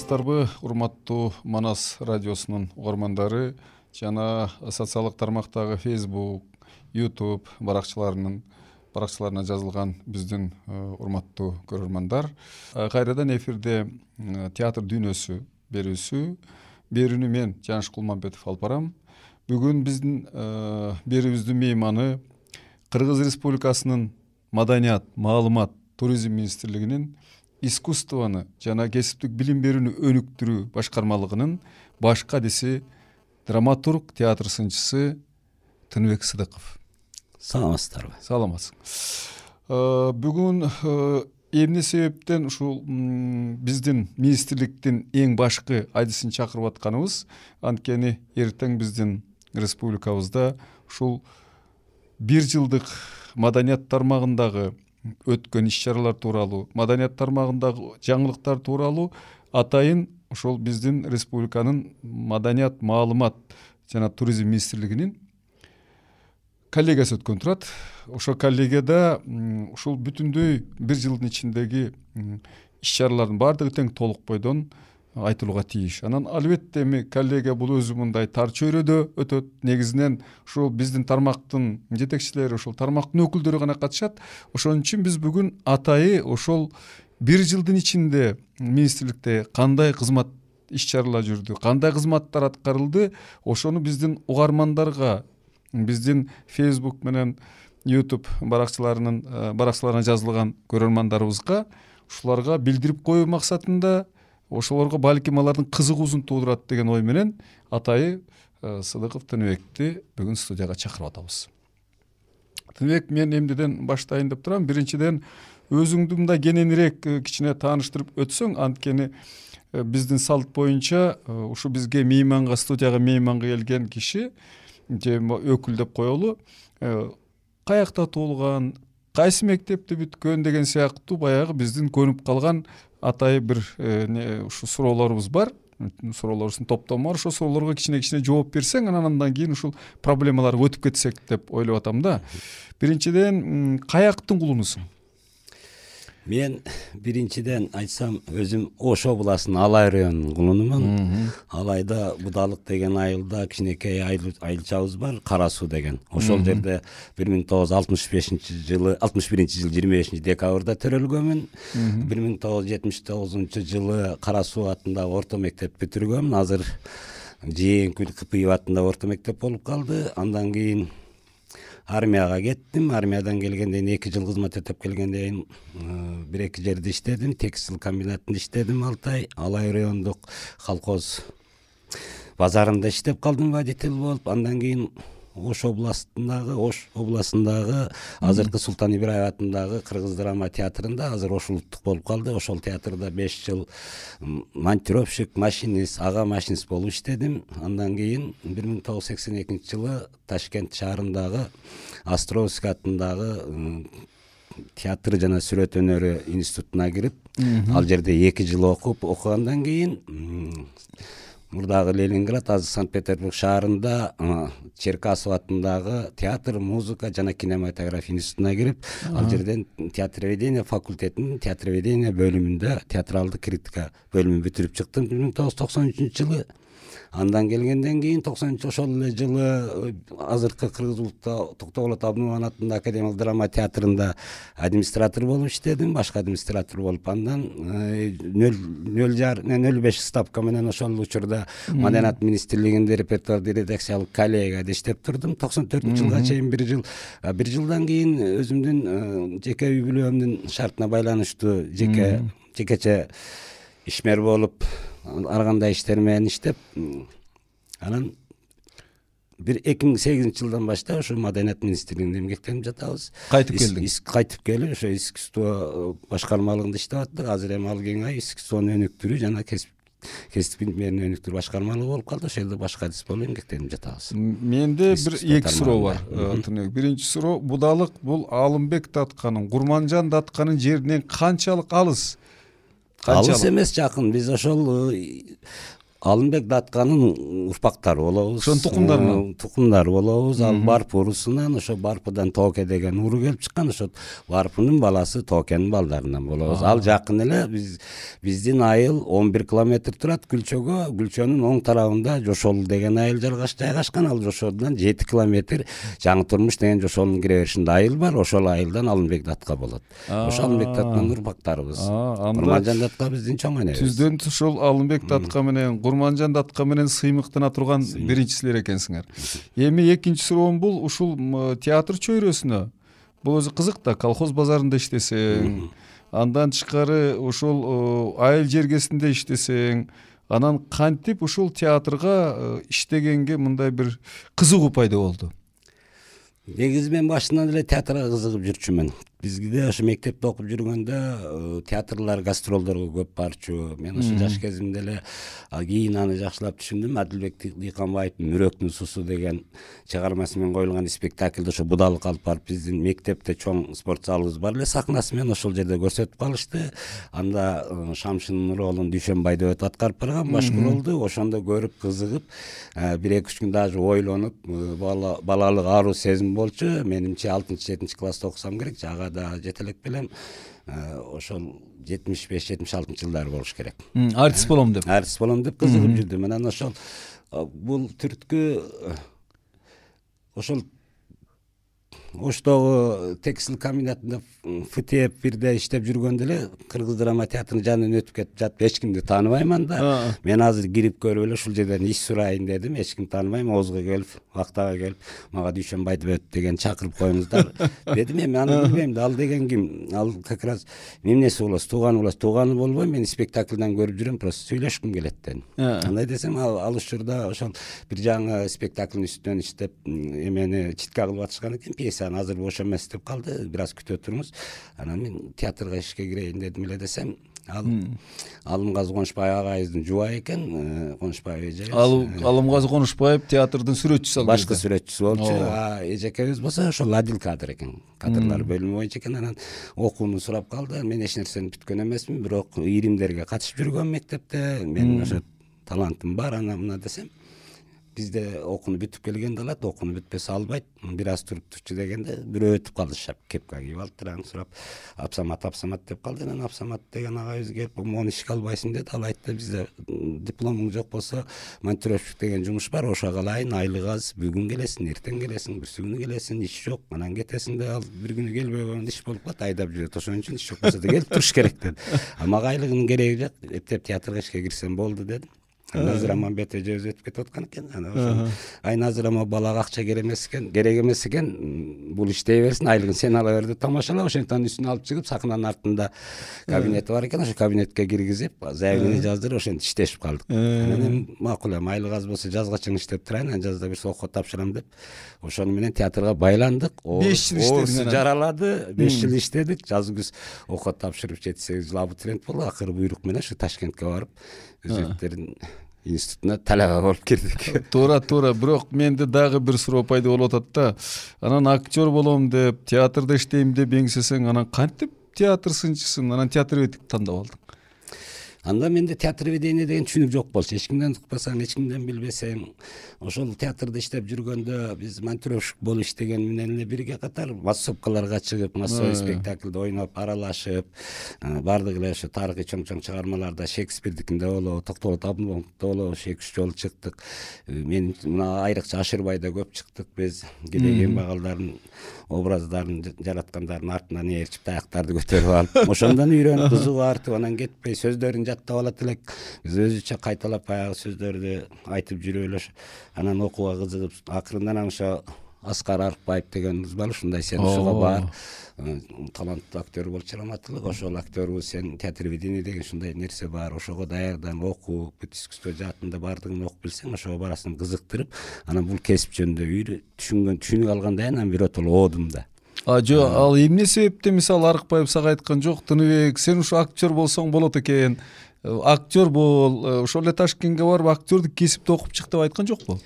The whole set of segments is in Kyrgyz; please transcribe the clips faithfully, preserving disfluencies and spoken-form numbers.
саламатсыздарбы, урматтуу Манас радиосунун угармандары жана социалдык тармактагы Facebook, YouTube баракчаларынын баракчаларына жазылган биздин урматтуу көрөрмандар. Кайрадан эфирде театр дүйнөсү берүүсү. Берүүнү мен Жаныш Кулманбетов алып барам. Бүгүн биздин берүүбүздүн мейманы Кыргыз Республикасынын Маданият, маалымат, туризм министрлигинин искусствону жана кесиптик билим берүүнү өнүктүрүү башкармалыгынын баш кадиси, драматург, театр сынчысы Тыныбек Сыдыков. Саламатсыздарбы? Саламатсыз. Бүгүн эмне себептен ушул биздин министрликтин эң башкы адисин чакырып атканыбыз, анткени эртең биздин республикабызда ушул бир жылдык маданият тармагындагы өткөн иш-чаралар тууралуу, маданият тармагындагы жаңылыктар тууралуу атайын ошол биздин республиканын маданият, маалымат жана туризм министрлигинин коллегиясы өткөн турат. Ошол коллегияда ушул бүтүндөй бир жылдын ичиндеги иш-чаралардын баардыгы тең толук бойдон айтылууга тийиш. Анан албетте эми коллегия бул өзү мындай тар чөйрөдө өтөт. Негизинен ушул биздин тармактын жетекчилери, ушул тармактын өкүлдөрү гана катышат. Ошон үчүн биз бүгүн атайы ошол бир жылдын ичинде министрликте кандай кызмат иш-чаралар жүрдү, кандай кызматтар аткарылды, ошону биздин угармандарга, биздин Facebook менен YouTube баракчаларынын баракчаларына жазылган көрөрмандарыбызга ушуларга билдирип коюу максатында, ошолорго балким алардын кызыгуусун туудурат деген ой менен атайы Сыдыков Тыныбекти бүгүн студияга чакырып атабыз. Тыныбек, мен эмнеден баштайын деп турам. Биринчиден, өзүңдү мындай кененирээк кичине тааныштырып өтсөң, анткени биздин салт боюнча ушу бизге мейманга, студияга мейманга келген киши же өкүл деп коелу, каякта туулган, кайсы мектепти бүткөн деген сыяктуу баягы биздин көнүп калган атайы бир ушу суроолорубуз бар. Суроолорубуздун топтому бар. Ошол суроолорго кичине-кичине жооп берсең, анан андан кийин ушул проблемаларга өтүп кетсек деп ойлоп атам да. Биринчиден, каяктын кулунусуң? Мен биринчиден айтсам, өзүм Ош областынын Алай районунун кулунумун. Алайда Будалык деген айылда кичинекей айылчабыз бар, Кара Суу деген. Ошол жерде бир миң тогуз жүз алтымыш бешинчи жылы, алтымыш биринчи жылы жыйырма бешинчи декабрда төрөлгөмүн. бир миң тогуз жүз жетимиш тогузунчу жылы Кара Суу атындагы орто мектеп бүтүргөмүн. Азыр Жээңкүл Кыпыев атындагы орто мектеп болуп калды. Андан кийин армияга кеттим. Армиядан келгенден кийин эки жыл кызмат өтөп келгенден кийин бир эки жерде иштедим. Текстил комбинатында иштедим алты ай. Алай райондук колхоз базарында иштеп калдым водитель болуп. Андан кийин Ош областындагы, Ош областындагы азыркы Султан Ибраев атындагы Кыргыз драма театрында, азыр Ош улуттук болуп калды. Ошол театрда беш жыл монтировщик, машинист, ага машинист болуп иштедим. Андан кийин бир миң тогуз жүз сексен экинчи жылы Ташкент шаарындагы Островский атындагы театр жана сүрөт өнөрү институтуна кирип, ал жерде эки жыл окуп, окугандан кийин мурдагы Ленинград, азыр Санкт-Петербург шаарында Черкасов атындагы театр, музыка жана кинематография институтуна кирип, ал жерден театроведение факультетинин театроведение бөлүмүндө театралдык критика бөлүмүн бүтүрүп чыктым бир миң тогуз жүз токсон үчүнчү жылы. Андан келгенден кийин токсонунчу ошол эле жылы азыркы Кыргыз улуттук Токтогулат Абдымомун атындагы академиялык драма театрында администратор болуп иштедим, башкы администратор болуп. Андан нөл беш ставка менен ошол учурда Маданият министрлигинде репертуарды редакциялык коллегияда иштеп турдум. токсон төртүнчү жылга чейин бир жыл. Бир жылдан кийин өзүмдүн жеке үй бүлөмдүн шартына байланыштуу жеке жекече ишмер болуп, ар кандай иштер менен иштеп, анан бир эки миң сегизинчи жылдан баштап ошо Маданият министрлигинде эмгектенип жатабыз. Кайтып келдиң? Кайтып келип, ошо искусство башкармалыгында иштеп аттык. Азыр эми ал кеңейип искусствону өнүктүрүү жана кесип билимдерин өнүктүрүү башкармалыгы болуп калды. Ошол жерде башка адис болуп эмгектенип жатабыз. Менде бир эки суроо бар. Биринчи суроо, Будалык бул Алымбек Датканын, Курманжан Датканын жеринен канчалык алыс? Алыс эмес, жакын. Биз ошол Алымбек Датканын урпактары болобуз. Ошонун тукумдарынан. Тукумдары болобуз. Ал Барп урусунан, ошо Барпыдан Тооке деген уру келип чыккан. Ошо Барпынын баласы Тоокенин балдарынан болобуз. Ал жакын эле биз биздин айыл он бир километр турат Күлчөгө. Күлчөнүн оң тарабында Жошол деген айыл жайгашкан. Ал Жошодон жети километр Жаңы Турмуш деген Жошолдун кире беришинде айыл бар. Ошол айылдан Алымбек Датка болот. Ошо Алымбек Датканын урпактарыбыз. Курманжан Датка биздин чоң энебиз. Түздөн ошол Алымбек Датка менен Курманжан Датка менен сыймыктана турган биринчисилер экенсиңер. Эми экинчи суроом бул ушул театр чөйрөсүнө. Бул өзү кызык да, колхоз базарында иштесең, андан тышкары ошол айыл жергесинде иштесең, анан кантип ушул театрга иштегенге мындай бир кызыгуу пайда болду? Негизи мен башынан эле театрга кызыгып жүрчүмүн. Бизде ошо мектепте окуп жүргөндө театрлар, гастролдорго көп барчу. Мен ошо жаш кезимде эле кийин аны жакшылап түшүндүм. Адилбек Дыйканбаевдин Мүрөктүн суусу деген чыгармасы менен коюлган спектакльде ошо будалык алып барып биздин мектепте чоң спорт залыбыз бар эле, сахнасы менен ошол жерде көрсөтүп калышты. Анда Шамшин Нуролун Дүйшөнбай деп аткарып барган башкы ролду. Ошондо көрүп кызыгып, бир эки үч күн даже ойлонуп, балалык аруу сезим болчу. Менимче алтынчы жетинчи класста окусам керек. Ага да жетелеп келем. Ошол жетимиш беш жетимиш алтынчы жылдары болуш керек. Артист болом деп. Артист болом деп кызыгып жүрдүм. Анан ошол бул түрткү ошол Оштогу текстиль комбинатында ФТЭП бирде иштеп жүргөндө эле Кыргыз драма театрынын жанынан өтүп кетип жатып, эч кимди тааныбайман да. Мен азыр кирип көрүп эле ушул жерден иш сурайын дедим. Эч ким тааныбайм. Оозго келип, Актага келип, мага Дүйшөнбай деген чакырып коюңуздар дедим. Эми аны билбейм да, ал деген ким? Ал как раз эмнеси болосуз, тууганы болосуз. Тууганы болбойм, мен спектакльдан көрүп жүрөм, просто сүйлөшкүм келет дедим. Андай десем, ал учурда ошол бир жаңы спектакльдин үстүнөн иштеп, эмени читке кылып атышкан экен, пьесаны азыр бош эмес деп калды, бир аз күтө туруңуз. Анан мен театрга ишке кирейин дедим эле десем, ал Алымгазы Конушбаев агайыбыздын жубайы экен, Конушбаев эже. Ал Алымгазы Конушбаев театрдын сүрөтчүсү ал. Башкы сүрөтчүсү болчу. А эжекебиз болсо ошол адил кадр экен. Кадрлар бөлүмү боюнча экен. Анан окууну сурап калды. Мен эч нерсени бүткөн эмесмин, бирок ийримдерге катышып жүргөм мектепте. Менин ошо талантым бар, ана мына десем. Бизде окууну бүтүп келгенде алат, окууну бүтпөсө албайт. Бир аз туруп турчу дегенде бирөө өтүп калды, шап кепка кийип алыптыр, аны сурап, Апсамат Апсамат деп калды. Анан Апсамат деген агайыбыз келип, "Мону ишке албайсың" деди. Ал айтты, "Бизде дипломуң жок болсо, монтировщик деген жумуш бар, ошого алайын, айлык аз, бүгүн келесиң, эртең келесиң, бүрсү күнү келесиң, иш жок, анан кетесиң" да. Ал бир күнү келбей койгондо иш болуп калат, айдап жүрөт. Ошон үчүн иш жок болсо да келип туруш керек деди. А мага айлыгынын кереги жок, эптеп театрга ишке кирсем болду дедим. Назыр Аманбет эжебиз өтүп кетип аткан экен. Анан ошо ай Назыр ама балага акча керек эмес экен, керек эмес экен, бул иштей берсин, айлыгын сен ала бер деп тамашалап, ошентип үстүнө алып чыгып, сахнанын артында кабинети бар экен, ошо кабинетке киргизип, заявление жаздырып, ошентип иштешип калдык. Анан эми макул эми айлык аз болсо жазга чейин иштеп турайын, анан жазда бир сокко тапшырам деп, ошону менен театрга байландык. беш жыл иштедиң. Жаралады, беш жыл иштедик, жаз күз окко тапшырып жети сегиз жыл абитуриент болду. Акыры буйрук менен ушу Ташкентке барып өзөктөрдүн институтуна талаба болуп кирдик. Туура, туура. Бирок менде дагы бир суроо пайда болуп атат да. Анан актер болом деп, театрда иштейм деп эңсесең, анан кантип театр сынчысын, анан театр ведик тандап алдың? Анда менде театр ведение деген түшүнүк жок болчу. Эч кимден укпасаң, эч кимден билбесең, ошол театрда иштеп жүргөндө биз монтировщик болуп иштеген менен эле бирге катар массовкаларга чыгып, массовый спектакльде ойноп, аралашып, бардык эле ошо тарыхый чоң-чоң чыгармаларда, Шекспирдикинде болобу, Токтогул Абдулловдукинде болобу, эки үч жолу чыктык. Мен мына айрыкча Ашырбайда көп чыктык. Биз кедейген багалдардын образдарын жараткандардын артынан ээрчип, таяктарды көтөрүп алып, ошондон үйрөнүп, кызыгуу артып, анан кетпей сөздөрүн жаттап алат элек. Биз өзүчө кайталап баягы сөздөрдү айтып жүрүп эле, анан окууга кызыгып, акырындан ошо Аскар Арыкбаев дегенибиз бар, ушундай сен ушуга бар, таланттуу актер болчу, раматтылык, ошол актербуз, сен театр ведение деген ушундай нерсе бар, ошого даярдан окуу, бүт искусство жаатында бардыгын окуп билсең, ошого барасың, кызыктырып, анан бул кесип жөнүндө үйрө түшүнгөн, түшүнүк алгандан кийин анан биротоло оодум да. А жо, ал эмне себептен мисалы Арыкбаев сага айткан жок, Тыныбек, сен ушу актер болсоң болот экен, актер бол, ошол эле Ташкентке барып актердик кесипти окуп чык деп айткан жокпу?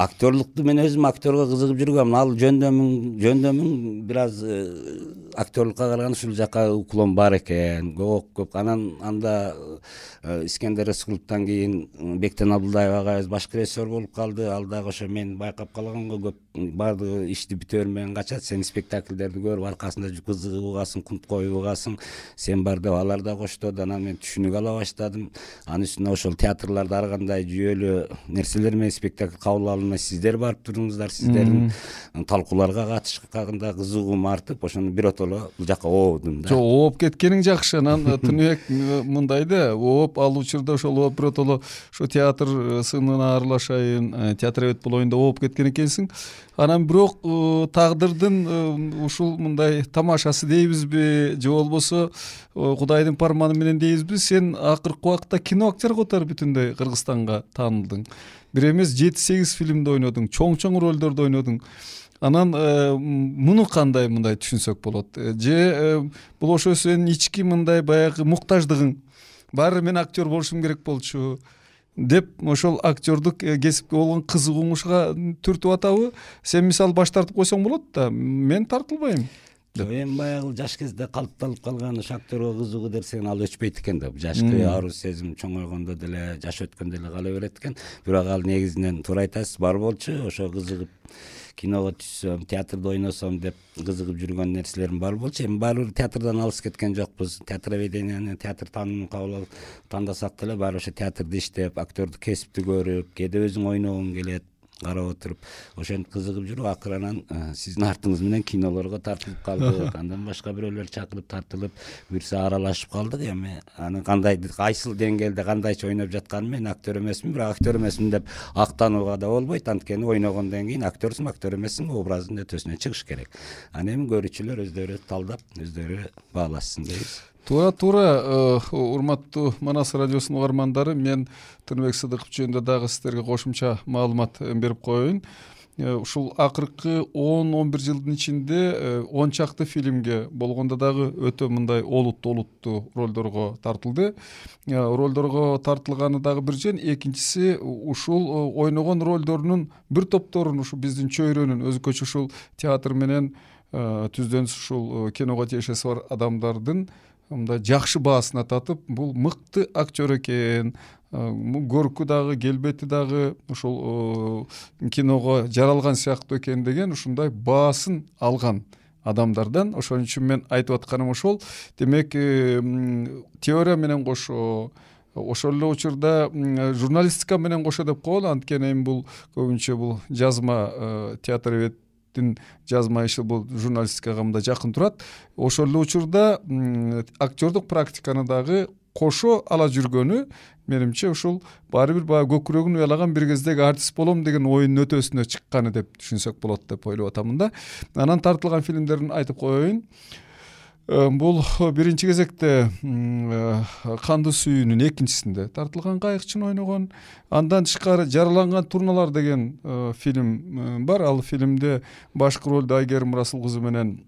Актерлукту мен өзүм актерге кызыгып жүргөм. Ал жөндөмүн, жөндөмүн бир аз актерлукка караганда ушул жака уклон бар экен, көп көп. Анан анда Искендер Рыскуловдон кийин Бектен Абдулдаев агайыбыз башкы режиссер болуп калды. Ал дагы ошо мен байкап калганга көп баардыгы ишти бүтө бермеген качат. Сен спектакльдерди көрүп аркасында кызыгып угасың, кунт коюп угасың, сен бар деп алар да коштоду. Анан мен түшүнүк ала баштадым. Анын үстүнө ошол театрларда ар кандай жүйөлүү нерселер менен спектакль кабыл алынмай сиздер барып турдуңуздар, сиздердин талкууларга катышканда кызыгуум артып, ошону биротоло бул жака оодум да. Жок, ооп кеткениң жакшы. Анан Тыныбек мындай да, ооп ал учурда ошол ооп биротоло ошо театр сынына аралашайын, театр эбет болоюн деп ооп кеткен экенсиң. Анан бирок тагдырдын ушул мындай тамашасы дейбизби, же болбосо Кудайдын парманы менен дейбизби, сен акыркы убакта кино актер катары бүтүндөй Кыргызстанга таанылдың. Бир эмес жети сегиз фильмде ойнодуң, чоң-чоң ролдордо ойнодуң. Анан муну кандай мындай түшүнсөк болот? Же бул ошо сенин ички мындай баягы муктаждыгың, баары мен актер болушум керек болчу деп ошол актердук кесипке болгон кызыгууң ушуга түртүп атабы? Сен мисалы баш тартып койсоң болот да, мен тартылбайм. Эми баягы жаш кезде калыпталып калган ошо актерге кызыгуу десең ал өчпөйт экен да. Жашкы арыз сезим чоңойгондо деле, жаш өткөндө деле кала берет экен. Бирок ал негизинен туура айтасыз, бар болчу. Ошо кызыгып киного түшсөм, театрда ойносом деп кызыгып жүргөн нерселерим бар болчу. Эми баары театрдан алыс кеткен жокпуз. Театр веденияны, театр таанымын кабыл алып тандасак деле баары ошо театрда иштеп, актердук кесипти көрүп, кээде өзүң ойногуң келет, карап отуруп, ошентип кызыгып жүрүп, акыры анан сиздин артыңыз менен кинолорго тартылып калдык. Андан башка бирөөлөр чакырып тартылып, буюрса аралашып калдык. Эми аны кандай, кайсыл деңгээлде кандайча ойноп жатканын мен актер эмесмин, бирок актер эмесмин деп актанууга да болбойт. Анткени ойногондон кийин актерсиң, актер эмессиң, образдын өтөсүнө чыгыш керек. Анан эми көрүүчүлөр өздөрү талдап, өздөрү баалашсын дейбиз. Туура туура, урматтуу Манас радиосунун угармандары, мен Тыныбек Сыдыков жөнүндө дагы сиздерге кошумча маалымат берип коеюн. Ушул акыркы он он бир жылдын ичинде он чакты фильмге, болгондо дагы өтө мындай олуттуу олуттуу ролдорго тартылды. Ролдорго тартылганы дагы бир жөн, экинчиси ушул ойногон ролдорунун бир топторун, ушу биздин чөйрөнүн өзгөчө ушул театр менен түздөн ушул киного тиешеси бар адамдардын мындай жакшы баасына татып, бул мыкты актер экен, көркү дагы, келбети дагы ушул киного жаралган сыяктуу экен деген ушундай баасын алган адамдардан. Ошон үчүн мен айтып атканым ошол. Демек, теория менен кошо, ошол эле учурда журналистика менен кошо деп коелу. Анткени эми бул көбүнчө бул жазма театр эбет жазма иши бул журналистикага мындай жакын турат. Ошол эле учурда актердук практиканы дагы кошо ала жүргөнү менимче ушул баары бир баягы көкүрөгүн уялаган бир кездеги артист болом деген оюнун өтөсүнө чыкканы деп түшүнсөк болот деп ойлоп атамын да. Анан тартылган фильмдерин айтып коеюн. Бул биринчи кезекте Кандуу сүйүүнүн экинчисинде тартылган кайыкчын ойногон. Андан тышкары Жараланган турналар деген фильм бар. Ал фильмде башкы ролду Айгерим Расул кызы менен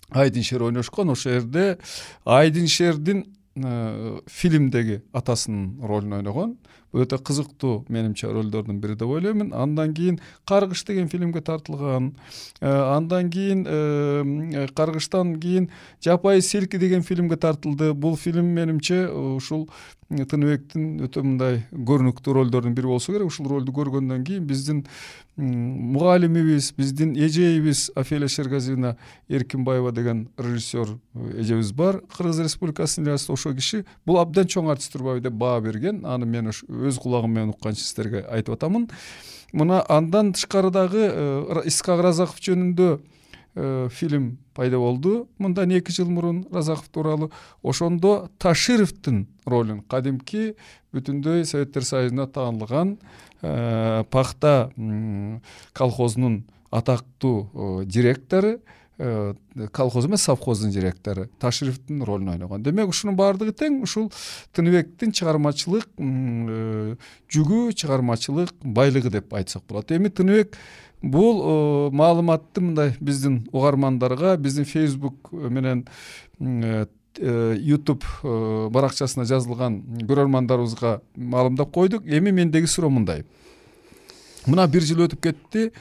Айдын Шер ойношкон. Ошол жерде Айдын Шердин фильмдеги атасынын ролун ойногон. Бул өтө кызыктуу менимче ролдордун бири деп ойлоймун. Андан кийин Каргыш деген фильмге тартылган. Андан кийин Каргыштан кийин Жапайы селки деген фильмге тартылды. Бул фильм менимче ушул Тыныбектин өтө мындай көрүнүктүү ролдордун бири болсо керек. Ушул ролду көргөндөн кийин биздин мугалимибиз, биздин эжейибиз Офелия Шергазиевна Эркинбаева деген режиссер эжебиз бар. Кыргыз Республикасынын элчиси. Ошол киши бул абдан чоң артист турбайбы деп баа берген. Аны мен өз кулагым менен укканча сиздерге айтып атамын. Мына андан тышкары дагы Исхак Разаков жөнүндө фильм пайда болду. Мындан эки жыл мурун Разаков тууралуу. Ошондо Ташировдун ролун, кадимки бүтүндөй Советтер Союзуна таанылган Пахта колхозунун атактуу директору, колхоз эмес совхоздун директору Ташировдун ролун ойногон. Демек, ушунун баардыгы тең ушул Тыныбектин чыгармачылык жүгү, чыгармачылык байлыгы деп айтсак болот. Эми Тыныбек бул маалыматты мындай биздин угармандарга, биздин Facebook менен YouTube баракчасына жазылган көрөрмандарыбызга маалымдап койдук. Эми мендеги суроо мындай. Мына бир жыл өтүп кетти.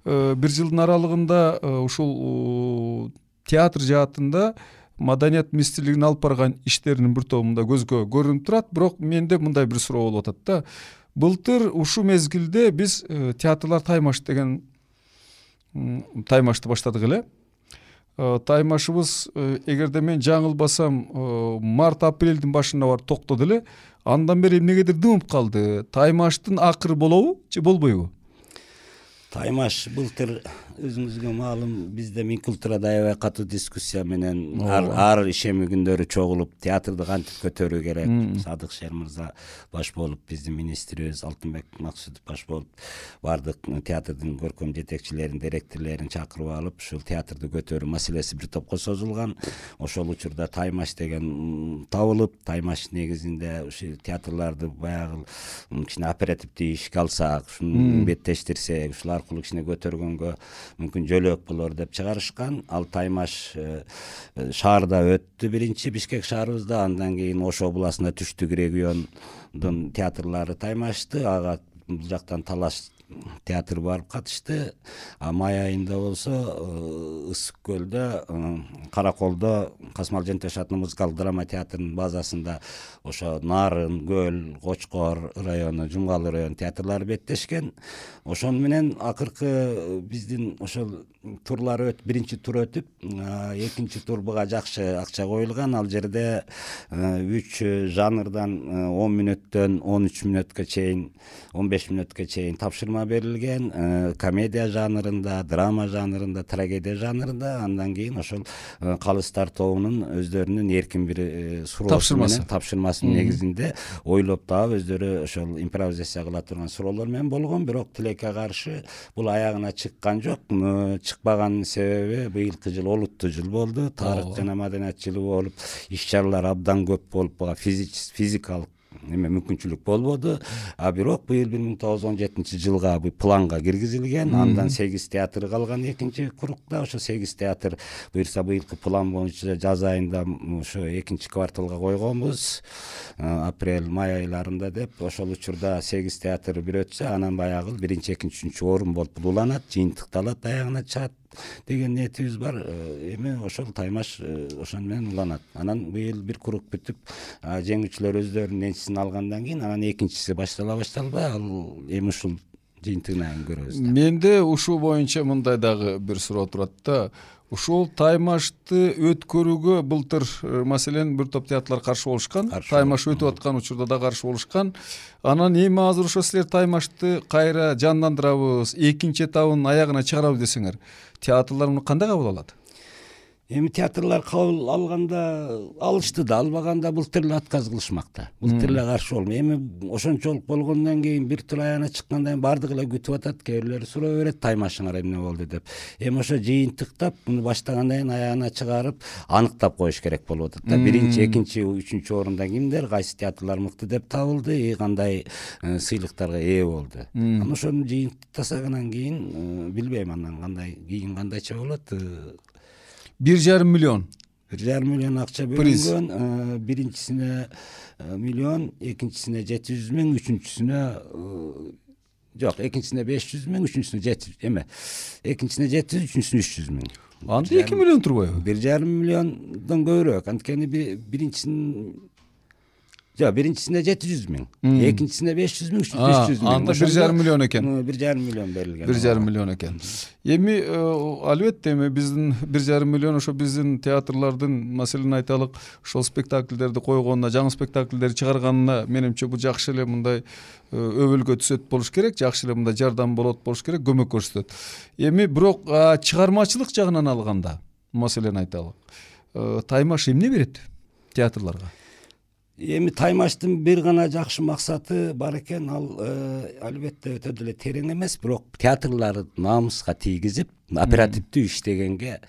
Бир жылдын аралыгында ушул театр жаатында маданият министрлигинин алып барган иштеринин бир тобунда көзгө көрүнүп турат. Бирок менде мындай бир суроо болуп атат да. Былтыр ушул мезгилде биз театрлар таймаш деген таймашты баштадык эле. Таймашыбыз, эгерде мен жаңылбасам, март апрелдин башында барып токтоду эле. Андан бери эмнегедир дымып калды. Таймаштын акыры болобу же болбойбу? Таймаш былтыр өзүңүзгө маалым бизде Минкультурада аябай катуу дискуссия менен ар, ар ишеми күндөрү чогулуп театрды кантип көтөрүү керек. Садык Шер мырза баш болуп, биздин министрибиз Алтынбек Максутов баш болуп, бардык театрдын көркөм жетекчилерин, директорлорун чакырып алып, ушул театрды көтөрүү маселеси бир топко созулган. Ошол учурда Таймаш деген табылып, Таймаш негизинде ушул театрларды баягы кичине оперативдүү ишке алсак, ушуну беттештирсек, ушул аркылуу кичине көтөргөнгө мүмкүн жөлөк болор деп чыгарышкан. Ал Таймаш шаарда өттү биринчи, Бишкек шаарыбызда, андан кийин Ош областына түштүк региондун театрлары таймашты. Ага бул жактан Талаш театр барып катышты. А май айында болсо Ысык көлдө, Караколдо Касмал Жентеш атынын музыкалык драма театрынын базасында ошо Нарын, Көл, Кочкор району, Жумгалы району театрлары беттешкен. Ошону менен акыркы биздин ошол турлар өт, биринчи тур өтүп, экинчи тур буга жакшы акча коюлган. Ал жерде үч жанрдан он мүнөттөн он үч мүнөткө чейин, он беш мүнөткө чейин тапшырма берилген. Комедия жанрында, драма жанрында, трагедия жанрында. Андан кийин ошол калыстар тобунун өздөрүнүн эркин бир суроосу менен, тапшырмасынын негизинде ойлоп таап өздөрү ошол импровизация кыла турган суроолор менен болгон. Бирок тилекке каршы бул аягына чыккан жок. Чыкпаганын себеби быйылкы жыл олуттуу жыл болду. Тарых жана маданият жылы болуп, иш-чаралар абдан көп болуп, буга физикалык эме мүмкүнчүлүк болбоду. А бирок быйыл бир миң тогуз жүз он жетинчи жылга бул планга киргизилген. Андан сегиз театр калган экинчи курукта. Ошо сегиз театр буюрса быйылкы план боюнча жаз айында ошо экинчи кварталга койгонбуз. Апрель, май айларында деп. Ошол учурда сегиз театр бир өтсө, анан баягы биринчи, экинчи, үчүнчү орун болуп уланат, жыйынтыкталат, аягына чыгат деген ниетибиз бар. Эми ошол Таймаш ошону менен уланат. Анан быйыл бир курук бүтүп, жеңүүчүлөр өздөрүнүн энчисин алгандан кийин анан экинчиси баштала башталбай, ал эми ушул жыйынтыгынан көрөбүз. Менде ушул боюнча мындай дагы бир суроо турат да. Ушул Таймашты өткөрүүгө былтыр маселен бир топ театрлар каршы болушкан. Таймаш өтүп аткан учурда да каршы болушкан. Анан эми азыр ошо силер Таймашты кайра жандандырабыз, экинчи этабын аягына чыгарабыз десеңер, театрлар муну кандай кабыл алат? Эми театрлар кабыл алганда алышты да, албаганда былтыр эле отказ кылышмакта. Былтыр эле каршы болду. Эми ошончолук болгондон кийин бир тур аягына чыккандан кийин бардыгы эле күтүп атат. Кээ бирлери суроо берет, Таймашыңар эмне болду деп. Эми ошо жыйынтыктап, муну баштагандан кийин аягына чыгарып, аныктап коюш керек болуп атат да. Биринчи, экинчи, үчүнчү орунда кимдер, кайсы театрлар мыкты деп табылды, кандай сыйлыктарга ээ болду. Анан ошону жыйынтыктасагандан кийин билбейм андан кандай, кийин кандайча болот. Бир жарым миллион. Бир жарым миллион акча бөлүнгөн. Биринчисине миллион, экинчисине жети жүз миң, үчүнчүсүнө жок, экинчисине беш жүз миң, үчүнчүсүнө жети жүз, эме. Экинчисине жети жүз, үчүнчүсүнө үч жүз миң. Анда эки миллион турбайбы? Бир жарым миллиондон көбүрөөк. Анткени биринчисинин жок, биринчисине жети жүз миң, экинчисине беш жүз миң, үчүнчүсүнө үч жүз миң. Анда бир жарым миллион экен. бир жарым миллион берилген. бир жарым миллион экен. Эми албетте эми биздин бир жарым миллион ошо биздин театрлардын маселени айталык, ошол спектакльдерди койгонуна, жаңы спектакльдерди чыгарганына менимче бул жакшы эле мындай өбөлгө түзөт болуш керек, жакшы эле мындай жардам болот болуш керек, көмөк көрсөтөт. Эми бирок чыгармачылык жагынан алганда, маселени айталык. Таймаш эмне берет театрларга? Эми Таймаштын бир гана жакшы максаты бар экен, ал албетте өтө деле терең эмес, бирок театрларды намыска тийгизип, оперативдүү иштегенге.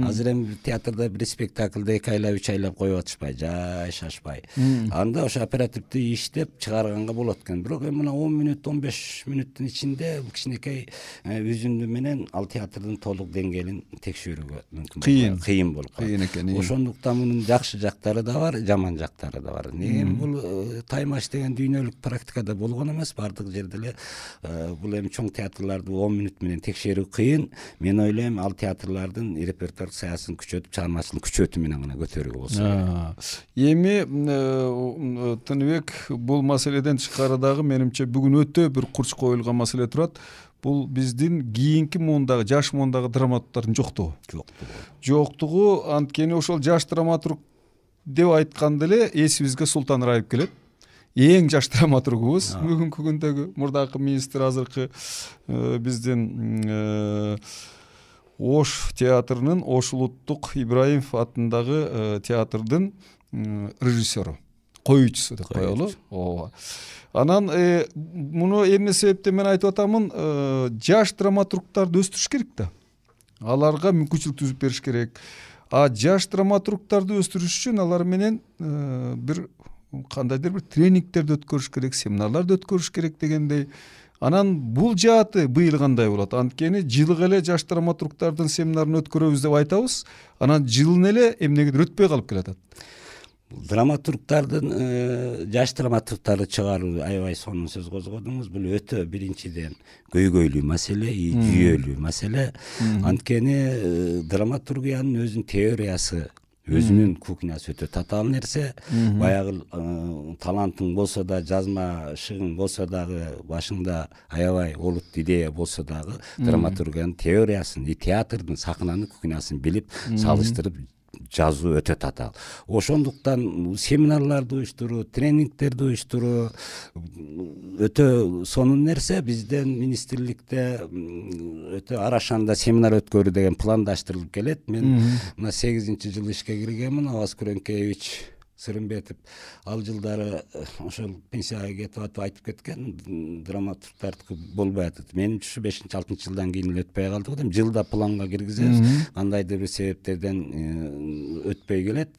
Азыр эми театрда бир спектакльде эки айлап, үч айлап коюп атышпай, жай шашпай. Анда ошо оперативдүү иштеп чыгарганга болот экен. Бирок эми мына он мүнөт, он беш мүнөттүн ичинде кичинекей үзүндү менен ал театрдын толук деңгээлин текшерүүгө мүмкүн. Кыйын, кыйын болуп калат. Кыйын экен. Ошондуктан мунун жакшы жактары да бар, жаман жактары да бар. Эми бул Таймаш деген дүйнөлүк практикада болгон эмес, бардык жерде эле бул эми чоң театрларды он мүнөт менен текшерүү кыйын. мен ойлойм ал театрлардын репертуардык саясатын күчөтүп, чыгармачылык күчөтүү менен гана көтөрүүгө болсо. Эми Тыныбек, бул маселеден тышкары дагы менимче бүгүн өтө бир курч коюлган маселе турат. Бул биздин кийинки муундагы, жаш муундагы драматургдардын жоктугу. Жоктугу. Жоктугу, анткени ошол жаш драматург деп айтканда эле эсибизге Султан Раип келет. Эң жаш драматургубуз бүгүнкү күндөгү, мурдакы министр, азыркы биздин Ош театрынын, Ош улуттук Ибраимов атындагы театрдын режиссеру, коюучусу деп коелу. Ооба. Анан муну эмне себептен мен айтып атамын, жаш драматургдарды өстүрүш керек да. Аларга мүмкүнчүлүк түзүп бериш керек. А жаш драматургдарды өстүрүш үчүн алар менен бир кандайдыр бир тренингтерди өткөрүш керек, семинарларды өткөрүш керек дегендей. Анан бул жааты быйыл кандай болот? Анткени жылга эле жаш драматургдардын семинарын өткөрөбүз деп айтабыз, анан жылын эле эмнегедир өтпөй калып келатат. Драматургдардын, жаш драматургдарды чыгаруу, аябай сонун сөз козгодуңуз. Бул өтө биринчиден көйгөйлүү маселе, жүйөлүү маселе. Анткени драматургиянын өзүнүн теориясы, өзүнүн кухнясы өтө татаал нерсе. Баягы талантың болсо да, жазмашыгың болсо дагы, башыңда аябай олут идея болсо дагы, драматургиянын теориясын, театрдын, сахнанын кухнясын билип, салыштырып жазуу өтө татаал. Ошондуктан семинарларды уюштуруу, тренингтерди уюштуруу өтө сонун нерсе. Бизден министрликте өтө арашанда семинар өткөрүү деген пландаштырылып келет. Мен мына сегизинчи жыл ишке киргенмин. Аваз Күрөңкеевич Сырымбетов ал жылдары ошол пенсияга кетип атып айтып кеткен, драматургдардыкы болбой атат. Менимче бешинчи алтынчы жылдан кийин эле өтпөй калды деп, жылда планга киргизебиз, кандайдыр бир себептерден өтпөй келет.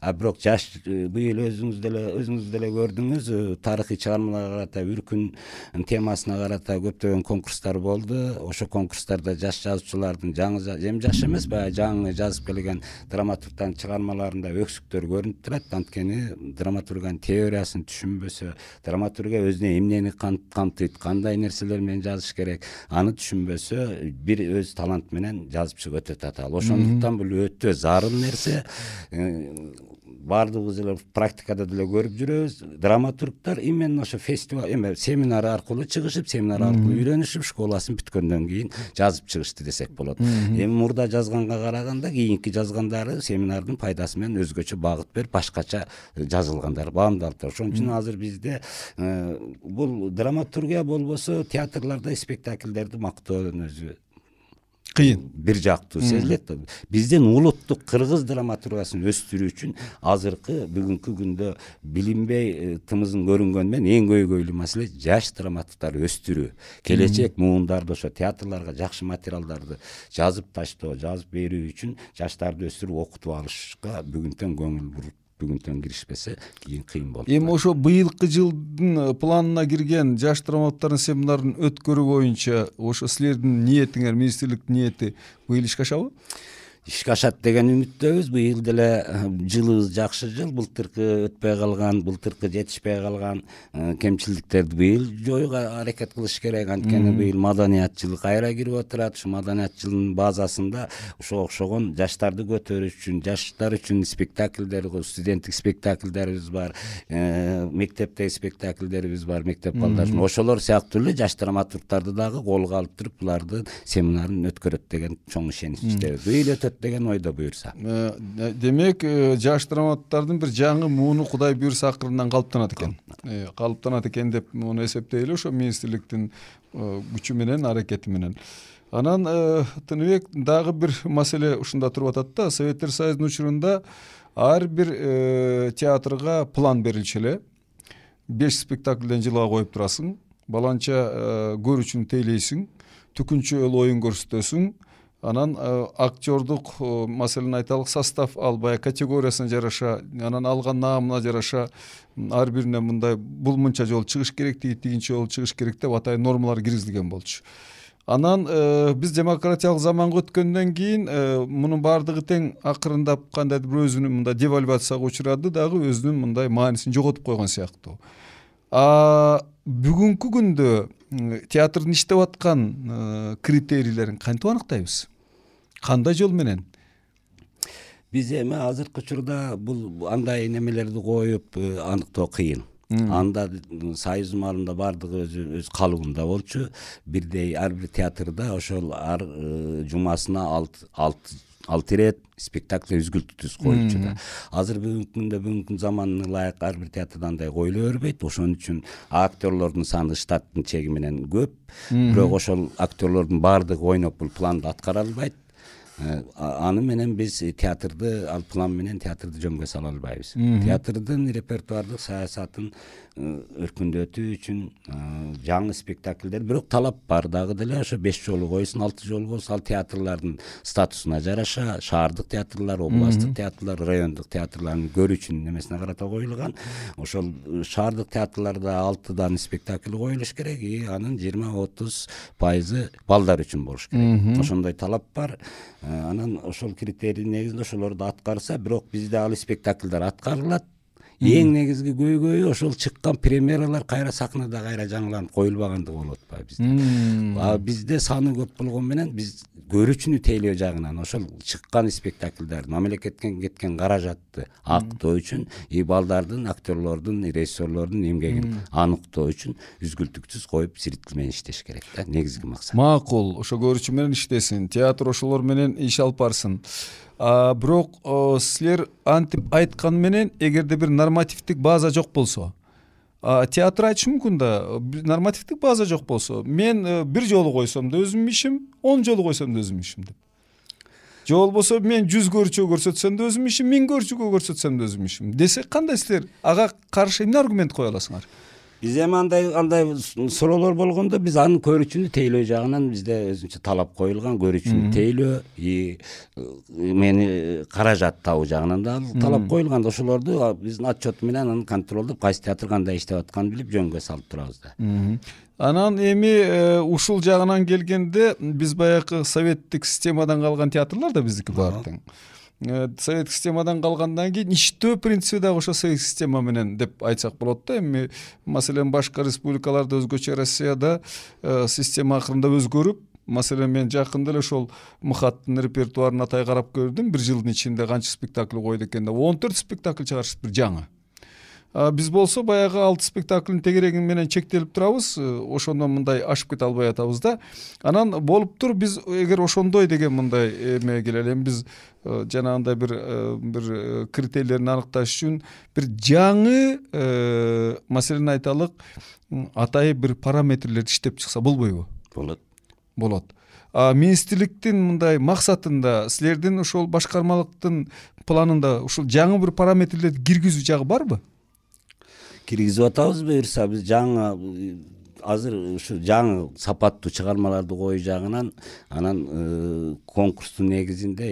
А бирок жаш быйыл өзүңүз деле өзүңүз деле көрдүңүз, тарыхый чыгармаларга карата, Үркүн темасына карата көптөгөн конкурстар болду. Ошо конкурстарда жаш жазуучулардын, жаңы эми жаш эмес, баягы жаңы жазып келген драматургдардын чыгармаларында өксүктөр көрүнүп турат. Анткени драматургиянын теориясын түшүнбөсө, драматургия өзүнө эмнени камтыйт, кандай нерселер менен жазыш керек, аны түшүнбөсө, бир өз талант менен жазып чыгуу өтө татаал. Ошондуктан бул өтө зарыл нерсе. Бардыгыбыз эле практикада деле көрүп жүрөбүз. Драматургдар именно ошо фестиваль, эме семинар аркылуу чыгышып, семинар аркылуу үйрөнүшүп, школасын бүткөндөн кийин жазып чыгышты десек болот. Эми мурда жазганга караганда кийинки жазгандары семинардын пайдасы менен өзгөчө багыт берип, башкача жазылгандар, баамдалыптыр. Ошон үчүн азыр бизде бул драматургия болбосо, театрларда спектакльдерди мактоонун өзү кыйын, бир жактуу сезилет. Биздин улуттук кыргыз драматургиясын өстүрүү үчүн азыркы бүгүнкү күндө билинбей тымызын көрүнгөнү менен эң көйгөйлүү маселе жаш драматургдарды өстүрүү. Келечек муундарда ошо театрларга жакшы материалдарды жазып таштоо, жазып берүү үчүн жаштарды өстүрүп окутуп алышка бүгүнтөн көңүл буруп, бүгүнтөн киришпесе кийин кыйын болот. Эми ошо быйылкы жылдын планына кирген жаш драматургдардын семинарын өткөрүү боюнча ошо силердин ниетиңер, министрликтин ниети быйыл ишке ашабы? Ишке ашат деген үмүттөбүз. Быйыл деле жылыбыз жакшы жыл. Былтыркы өтпөй калган, былтыркы жетишпей калган кемчиликтерди быйыл жоюуга аракет кылыш керек. Анткени быйыл маданият жылы кайра кирип отурат. Ушу маданият жылынын базасында ошого окшогон жаштарды көтөрүш үчүн, жаштар үчүн спектакльдер, студенттик спектакльдерибиз бар, мектептеги спектакльдерибиз бар, мектеп балдар үчүн. Ошолор сыяктуу эле жаш драматургдарды дагы колго алып туруп, булардын семинарын өткөрөт деген чоң ишеничтебиз. Быйыл өтөт деген ойдо буюрса. Демек, жаш драматургдардын бир жаңы мууну Кудай буюрса акырындан калыптанат экен. Калыптанат экен деп муну эсептейли, ошо министрликтин күчү менен, аракети менен. Анан Тыныбек, дагы бир маселе ушунда туруп атат да. Советтер Союзунун учурунда ар бир театрга план берилчү эле. беш спектакльден жылга коюп турасың, баланча көрүүчүнү тейлейсиң, түкүнчө эл оюн көрсөтөсүң. Анан актердук, маселен айталык, состав албай, категориясына жараша, анан алган наамына жараша ар бирине мындай бул мынча жолу чыгыш керек, тиги тигинче жолу чыгыш керек деп атайын нормалар киргизилген болчу. Анан биз демократиялык заманга өткөндөн кийин мунун баардыгы тең акырындап кандайдыр бир өзүнүн мындай девальвацияга учурады дагы, өзүнүн мындай маанисин жоготуп койгон сыяктуу. А бүгүнкү күндө театрдын иштеп аткан критерийлерин кантип аныктайбыз? кандай жол менен? Биз эми азыркы учурда бул андай немелерди коюп аныктоо кыйын. Анда Союз маалында бардыгы өзү өз калыбында болчу. Бирдей ар бир театрда ошол ар жумасына алты алты ирет спектакль үзгүлтүксүз коюлчу да. Азыр бүгүнкү күндө бүгүнкү заманына ылайык ар бир театрда андай коюла бербейт. Ошон үчүн актерлордун саны штаттын чеги менен көп. Бирок ошол актерлордун баардыгы ойноп бул планды аткара албайт. Аны менен биз театрды ал план менен театрды жөнгө сала албайбыз. Театрдын репертуардык саясатын өркүндөтүү үчүн жаңы спектакльдер, бирок талап бар дагы деле ошо беш жолу койсун, алты жолу болсун, ал театрлардын статусуна жараша шаардык театрлар, областтык театрлар, райондук театрлардын көрүүчүнүн немесине карата коюлган. Ошол шаардык театрларда алтыдан спектакль коюлуш керек, и анын жыйырма отуз пайызы балдар үчүн болуш керек. Ошондой талап бар. Анан ошол критерий негизинде ошолорду аткарса, бирок бизде ал спектакльдер аткарылат. Эң негизги көйгөйү ошол чыккан премьералар кайра сахнада кайра жаңыланып коюлбагандыгы болуп атпайбы бизде. А бизде саны көп болгон менен биз көрүүчүнү тейлөө жагынан ошол чыккан спектакльдер мамлекеттен кеткен каражатты актоо үчүн и балдардын, актерлордун, режиссерлордун эмгегин аныктоо үчүн үзгүлтүксүз коюп зритель менен иштеш керек да, негизги максат. Макул, ошо көрүүчү менен иштесин, театр ошолор менен иш алып барсын. А бирок силер антип айткан менен эгерде бир нормативдик база жок болсо, театр айтышы мүмкүн да, нормативдик база жок болсо, мен бир жолу койсом да өзүмдүн ишим, он жолу койсом да өзүмдүн ишим деп. Же болбосо мен жүз көрүүчүгө көрсөтсөм да өзүмдүн ишим, миң көрүүчүгө көрсөтсөм да өзүмдүн ишим десек, кандай силер ага каршы эмне аргумент кое аласыңар? Биз эми андай андай суроолор болгондо биз анын көрүүчүнү тейлөө жагынан бизде өзүнчө талап коюлган, көрүүчүнү тейлөө и мени каражат табуу жагынан да талап коюлган. Ошолорду биздин отчету менен аны контролдоп, кайсы театр кандай иштеп атканын билип жөнгө салып турабыз да. Анан эми ушул жагынан келгенде биз баягы советтик системадан калган театрлар да биздики баары тең. Советтик системадан калгандан кийин иштөө принципи дагы ошо советтик система менен деп айтсак болот да. Эми маселен башка республикаларда өзгөчө, Россияда система акырында өзгөрүп, маселен мен жакында эле ошол МХАТтын репертуарын атай карап көрдүм. Бир жылдын ичинде канча спектакль койду экен деп, он төрт спектакль чыгарышты, бир жаңы. Биз болсо баягы алты спектакльдин тегереги менен чектелип турабыз, ошондон мындай ашып кете албай атабыз да. Анан болуптур, биз эгер ошондой деген мындай эме келели, эми биз жанагындай бир бир критерийлерин аныкташ үчүн бир жаңы маселени айталык, атайын бир параметрлерди иштеп чыкса болбойбу? Болот. Болот. А министрликтин мындай максатында, силердин ошол башкармалыктын планында ушул жаңы бир параметрлерди киргизүү жагы барбы? Киргизип атабыз буюрса, биз жаңы азыр ушу жаңы сапаттуу чыгармаларды коюу жагынан анан конкурстун негизинде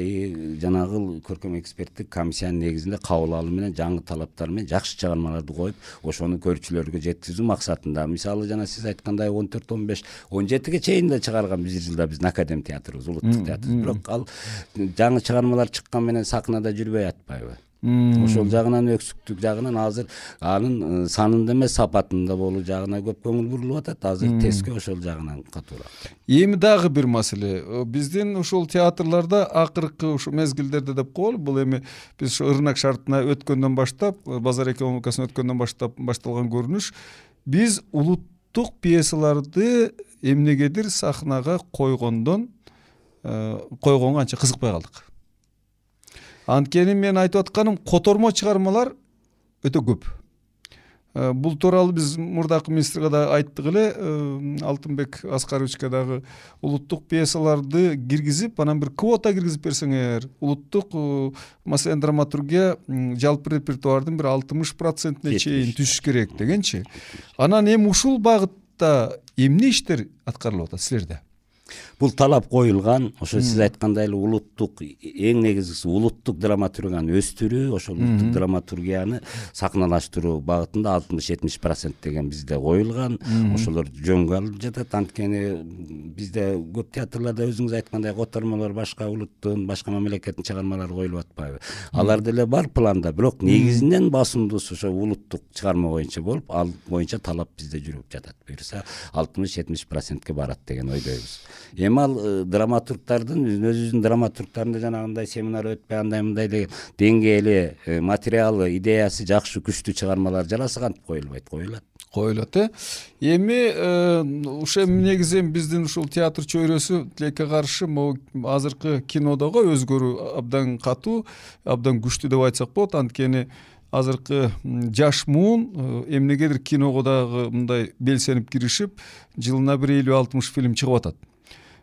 жанагы көркөм эксперттик комиссиянын негизинде кабыл алуу менен жаңы талаптар менен жакшы чыгармаларды коюп, ошону көрүүчүлөргө жеткизүү максатында. Мисалы жана сиз айткандай он төрт, он беш, он жетиге чейин да чыгарган бир жылда биздин академ театрыбыз, улуттук театрыбыз. Бирок ал жаңы чыгармалар чыккан менен сахнада жүрбөй атпайбы? Ошол жагынан, өксүктүк жагынан азыр анын санында эмес, сапатында болуу жагына көп көңүл бурулуп атат. Азыр тескө ошол жагынан катуураак. Эми дагы бир маселе, биздин ушул театрларда акыркы ушу мезгилдерде деп коелу, бул эми биз ушу ырынак шартына өткөндөн баштап, базар экономикасына өткөндөн баштап башталган көрүнүш, биз улуттук пьесаларды эмнегедир сахнага койгондон койгонго анча кызыкпай калдык. Анткени мен айтып атканым, котормо чыгармалар өтө көп. Бул тууралуу биз мурдакы министрге да айттык эле, Алтынбек Аскаровичке дагы улуттук пьесаларды киргизип, анан бир квота киргизип берсеңер, улуттук маселен драматургия жалпы репертуардын бир алтымыш процентине чейин түшүш керек дегенчи. Анан эми ушул багытта эмне иштер аткарылып атат силерде? Бул талап коюлган, ошо сиз айткандай эле улуттук, эң негизгиси улуттук драматургияны өстүрүү, ошол улуттук драматургияны сахналаштыруу багытында алтымыш жетимиш процент деген бизде коюлган. Ошолор жөнгө алып жатат. Анткени бизде көп театрларда өзүңүз айткандай котормолор, башка улуттун, башка мамлекеттин чыгармалары коюлуп атпайбы? Алар деле бар планда, бирок негизинен басымдуусу ошо улуттук чыгарма боюнча болуп, ал боюнча талап бизде жүрүп жатат. Буюрса алтымыш жетимиш процентке барат деген ойдойбуз. Эми ал драматургтардын өзүбүздүн драматургтарында жанагындай семинар өтпөй андай мындай деген деңгээли материалы идеясы жакшы күчтүү чыгармалар жараса кантип коюлбайт? Коюлат коюлат э эми ошо негизи биздин ушул театр чөйрөсү тилекке каршы могу азыркы кинодого өзгөрүү абдан катуу, абдан күчтүү деп айтсак болот. Анткени азыркы жаш муун эмнегедир киного дагы мындай белсенип киришип, жылына бир элүү алтымыш фильм чыгып атат.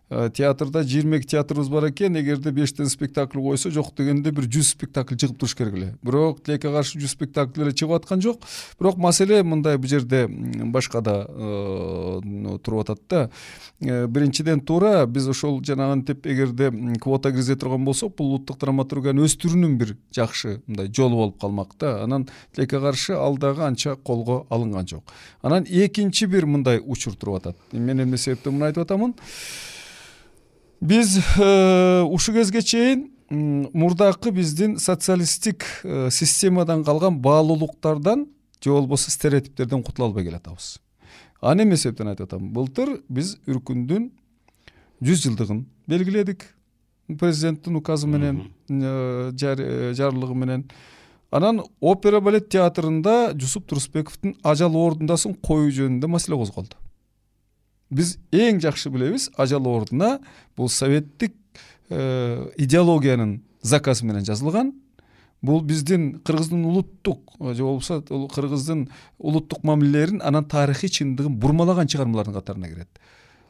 Театрда жыйырма эки театрыбыз бар экен. Эгерде бештен спектакль койсо, жок дегенде бир жүз спектакль чыгып туруш керек эле. Бирок тилекке каршы жүз спектакль эле чыгып аткан жок. Бирок маселе мындай, бул жерде башка да туруп атат да. Биринчиден туура биз ошол жанагынтип эгерде квота киргизе турган болсок, бул улуттук драматургиянын өстүрүүнүн бир жакшы мындай жолу болуп калмак да. Анан тилекке каршы ал дагы анча колго алынган жок. Анан экинчи бир мындай учур туруп атат. Мен эмне себептен муну айтып атамын? Биз ушу кезге чейин мурдакы биздин социалисттик системадан калган баалуулуктардан же болбосо стереотиптерден кутула албай келатабыз. Аны эмне себептен айтып атам? Былтыр биз Үркүндүн жүз жылдыгын белгиледик. Президенттин указы менен, жарлыгы менен. Анан опера балет театрында Жусуп Турусбековдун Ажал ордундасын коюу жөнүндө маселе козголду. Биз эң жакшы билебиз, Ажал ордуна бул советтик идеологиянын заказы менен жазылган. Бул биздин кыргыздын улуттук же болбосо кыргыздын улуттук мамилелерин, анан тарыхый чындыгын бурмалаган чыгармалардын катарына кирет.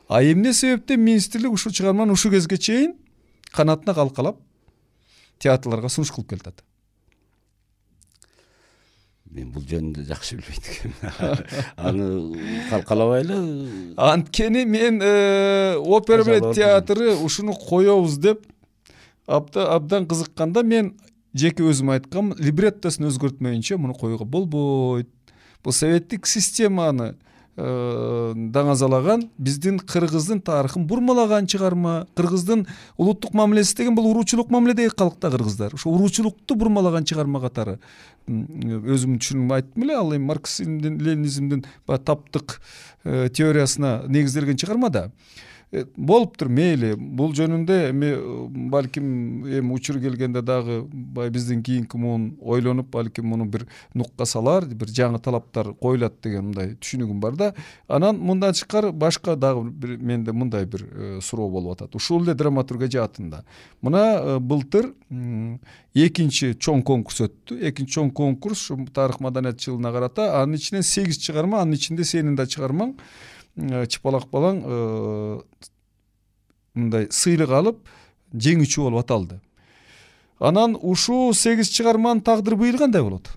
А эмне себептен министрлик ушул чыгарманы ушу кезге чейин канатына калкалап театрларга сунуш кылып келатат? Мен бул жөнүндө жакшы билбейт экенмин. Аны калкалабайлы. Анткени мен опера балет театры ушуну коебуз деп абдан кызыкканда, мен жеке өзүм айткам, либреттосун өзгөртмөйүнчө муну коюуга болбойт. Бул советтик системаны даңазалаган, биздин кыргыздын тарыхын бурмалаган чыгарма. Кыргыздын улуттук мамилеси деген бул уруучулук мамиледеги калкта кыргыздар. Ошо уруучулукту бурмалаган чыгарма катары өзүмдүн түшүнүгүмө айттым эле. Ал эми марксизмдин, ленинизмдин таптык теориясына негизделген чыгарма да. Болуптур, мейли. Бул жөнүндө эми балким эми учур келгенде дагы бай биздин кийинки муун ойлонуп, балким муну бир нукка салар, бир жаңы талаптар коюлат деген мындай түшүнүгүм бар да. Анан мындан тышкары башка дагы бир менде мындай бир суроо болуп атат. Ушул эле драматургия жаатында. Мына былтыр экинчи чоң конкурс өттү. Экинчи чоң конкурс ушу тарых маданият жылына карата. Анын ичинен сегиз чыгарма, анын ичинде сенин да чыгармаң чыпалак балаң мындай сыйлык алып жеңүүчү болуп аталды. Анан ушул сегиз чыгарманын тагдыры быйыл кандай болот?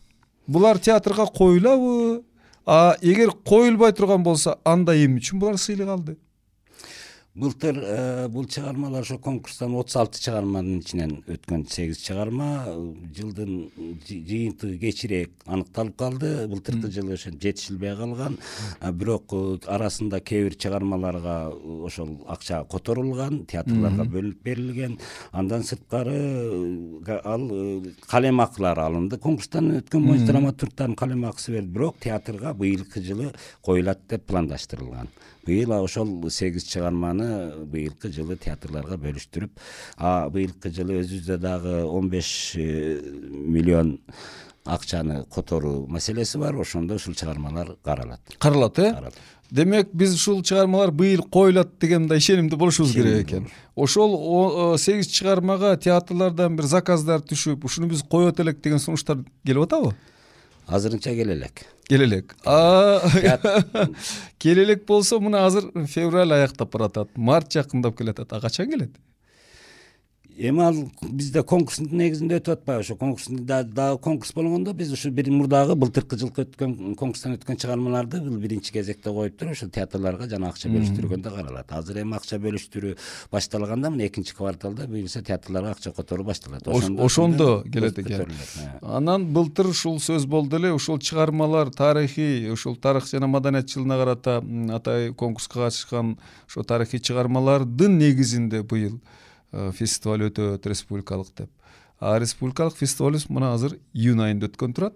Булар театрга коюлабы? А эгер коюлбай турган болсо, анда эмне үчүн булар сыйлык алды? Былтыр бул чыгармалар ошо конкурстан отуз алты чыгарманын ичинен өткөн сегиз чыгарма. Жылдын жыйынтыгы кечирээк аныкталып калды. Былтыркы жылы ошо жетишилбей калган. Бирок арасында кээ бир чыгармаларга ошол акча которулган, театрларга бөлүнүп берилген. Андан сырткары ал калем акылары алынды. Конкурстан өткөн боюнча драматургтардын калем акысы берилди. Бирок театрга быйылкы жылы коюлат деп пландаштырылган. Быйыл ошол сегиз чыгарманы быйылкы жылы театрларга бөлүштүрүп, а быйылкы жылы өзүбүздө дагы он беш миллион акчаны которуу маселеси бар. Ошондо ушул чыгармалар каралат. Каралат, э? Демек, биз ушул чыгармалар быйыл коюлат деген мындай ишенимде болушубуз керек экен. Ошол сегиз чыгармага театрлардан бир заказдар түшүп, ушуну биз коёт элек деген сунуштар келип атабы? Азырынча келелек. Келелек. Келелек болсо, мына азыр февраль аяктап баратат, март жакындап келатат. А качан келет? Эми ал бизде конкурстун негизинде өтүп атпайбы? Ошо конкурстун дагы конкурс болгондо биз ушу бир мурдагы былтыркы жылкы өткөн конкурстан өткөн чыгармаларды бул биринчи кезекте коюп туруп, ошо театрларга жана акча бөлүштүргөндө каралат. Азыр эми акча бөлүштүрүү башталганда, мына экинчи кварталда буюрса театрларга акча которуу башталат. Ошондо келет экен. Анан былтыр ушул сөз болду эле, ушул чыгармалар тарыхый, ушул тарых жана маданият жылына карата атай конкурска катышкан ошо тарыхый чыгармалардын негизинде быйыл фестиваль өтөт, республикалык деп. А республикалык фестивалыбыз мына азыр июнь айында өткөн турат.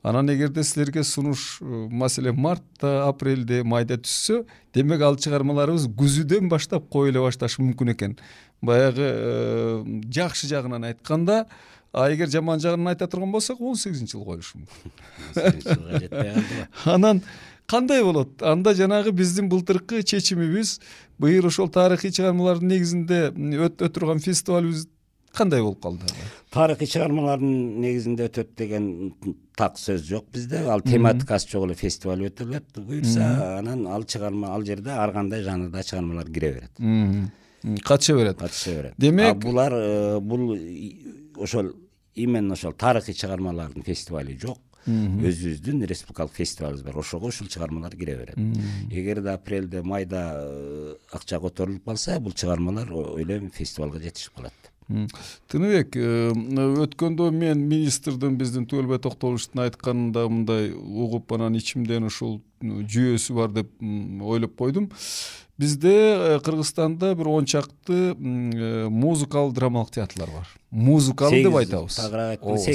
Анан эгерде силерге сунуш маселен мартта, апрелде, майда түшсө, демек ал чыгармаларыбыз күзүдөн баштап коюла башташы мүмкүн экен. Баягы жакшы жагынан айтканда, а эгер жаман жагынан айта турган болсок, он сегизинчи жыл коюлушу мүмкүн. Анан кандай болот? Анда жанагы биздин былтыркы чечимибиз, быйыл ошол тарыхый чыгармалардын негизинде өтө турган фестивалыбыз кандай болуп калды? Тарыхый чыгармалардын негизинде өтөт деген так сөз жок бизде. Ал тематикасы жок эле фестиваль өтөлөт. Буюрса, анан ал чыгарма ал жерде ар кандай жанрда чыгармалар кире берет. Катыша берет. Катыша берет. Демек, булар бул ошол именно ошол тарыхый чыгармалардын фестивали жок. Өзүбүздүн республикалык фестивалыбыз бар. Ошого ушул чыгармалар кире берет. Эгерде апрелде, майда акча которулуп калса, бул чыгармалар ойлойм фестивалга жетишип калат. Тыныбек, өткөндө мен министрдин, биздин Түгөлбай Токтогуловичтун айтканында мындай угуп, анан ичимден ушул жүйөсү бар деп ойлоп койдум. Бизде Кыргызстанда бир он чакты музыкалык драмалык театрлар бар. Музыкалык деп айтабыз.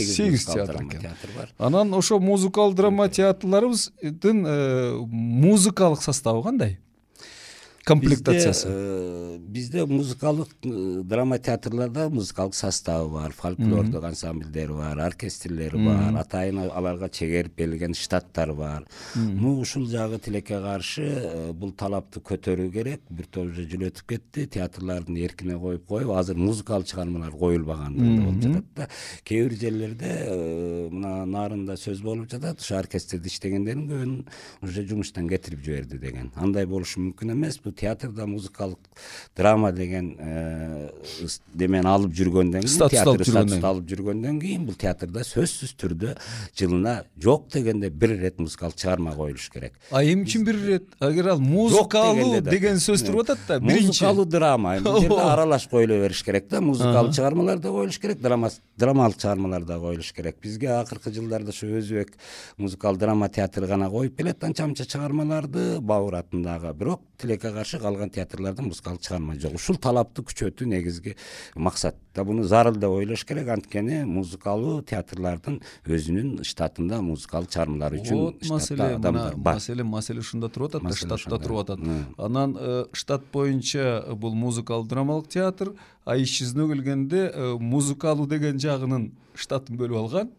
сегиз театр бар. Анан ошо музыкалык драма театрларыбыздын музыкалык составы кандай? Комплектациясы. Бизде музыкалык драма театрларда музыкалык составы бар, фольклордук ансамбльдер бар, оркестрлер бар, атайын аларга чегерип берилген штаттар бар. Ну, ушул жагы тилекке каршы бул талапты көтөрүү керек. Бир топ уже жыл өтүп кетти, театрлардын эркине коюп коюп, азыр музыкалык чыгармалар коюлбагандыгы болуп жатат да. Кээ бир жерлерде мына нарында сөз болуп жатат, ушу оркестрде иштегендердин көбүн уже жумуштан кетирип жиберди деген. Андай болушу мүмкүн эмес. Театрда музыкалык драма деген демен алып жүргөндөн кийин, театр статусун алып жүргөндөн кийин, бул театрда сөзсүз түрдө жылына жок дегенде бир ирет музыкалык чыгарма коюлуш керек. А эмне үчүн бир ирет? Агер ал музыкалуу деген сөз туруп атат да, биринчи музыкалуу драма, бул жерде аралаш коюла бериш керек да, музыкалык чыгармалар да коюлуш керек, драмалык чыгармалар да коюлуш керек. Бизге акыркы жылдарда ушу Өзбек музыкалык драма театры гана коюп келет анча-мынча чыгармаларды, Бабур атындагы. Бирок тилекке каршы калган театрларда музыкалык чыгарма жок. Ушул талапты күчөтүү негизги максат. Да буну зарыл деп ойлош керек, анткени музыкалуу театрлардын өзүнүн штатында музыкалык чыгармалар үчүн штатта адамдар бар. Маселе маселе ушунда туруп атат, штатта туруп атат. Анан штат боюнча бул музыкалык драмалык театр, а иш жүзүнө келгенде музыкалуу деген жагынын штатын бөлүп алган.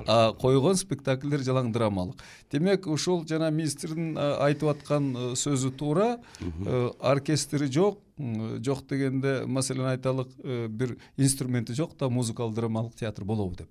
А койгон спектакльдер жалаң драмалык. Демек, ушул жана министрдин айтып аткан сөзү туура, оркестри жок, жок дегенде, маселен айталык, бир инструменти жок да музыкалык драмалык театр болобу деп.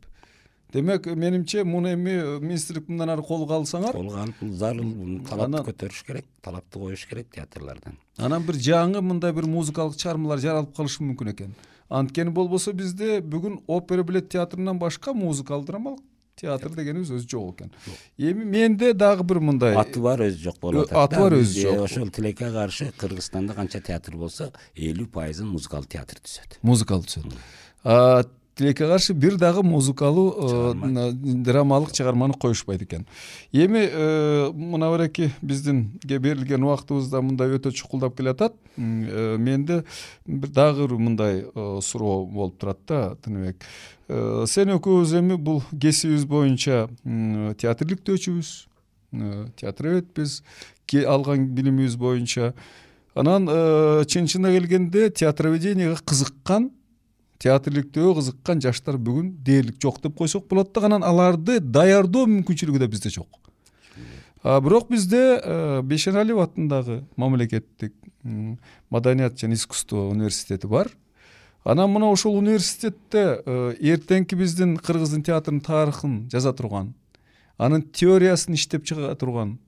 Демек, менимче муну эми министрлик мындан ары колго алсаңар, колго алып, бул зарыл талапты көтөрүш керек, талапты коюш керек театрлардан. Анан бир жаңы мындай бир музыкалык чыгармалар жаралып калышы мүмкүн экен. Анткени болбосо бизде бүгүн опера балет театрынан башка музыкалык драмалык театр дегенибиз өзү жок экен. Эми менде дагы бир мындай аты бар, өзү жок болуп атат. Аты бар, өзү жок. Ошол тилекке каршы Кыргызстанда канча театр болсо, элүү пайызын музыкалык театр түзөт. Музыкалык түзөт. А тилекке каршы бир дагы музыкалуу драмалык чыгарманы коюшпайт экен. Эми мына бараки биздинге берилген убактыбызда мындай өтө чукулдап келатат. Менде бир дагы мындай суроо болуп турат да, Тыныбек. Сен экөөбүз эми бул кесибибиз боюнча театрликтөөчүбүз, театроведбиз, алган билимибиз боюнча. Анан чын-чынына келгенде театроведенияга кызыккан, театрликтөөгө кызыккан жаштар бүгүн дээрлик жок деп койсок болот да, анан аларды даярдоо мүмкүнчүлүгү да бизде жок. А бирок бизде Бейшеналиев атындагы мамлекеттик маданият жана искусство университети бар. Анан мына ошол университетте эртеңки биздин кыргыздын театрынын тарыхын жаза турган, анын теориясын иштеп чыга турган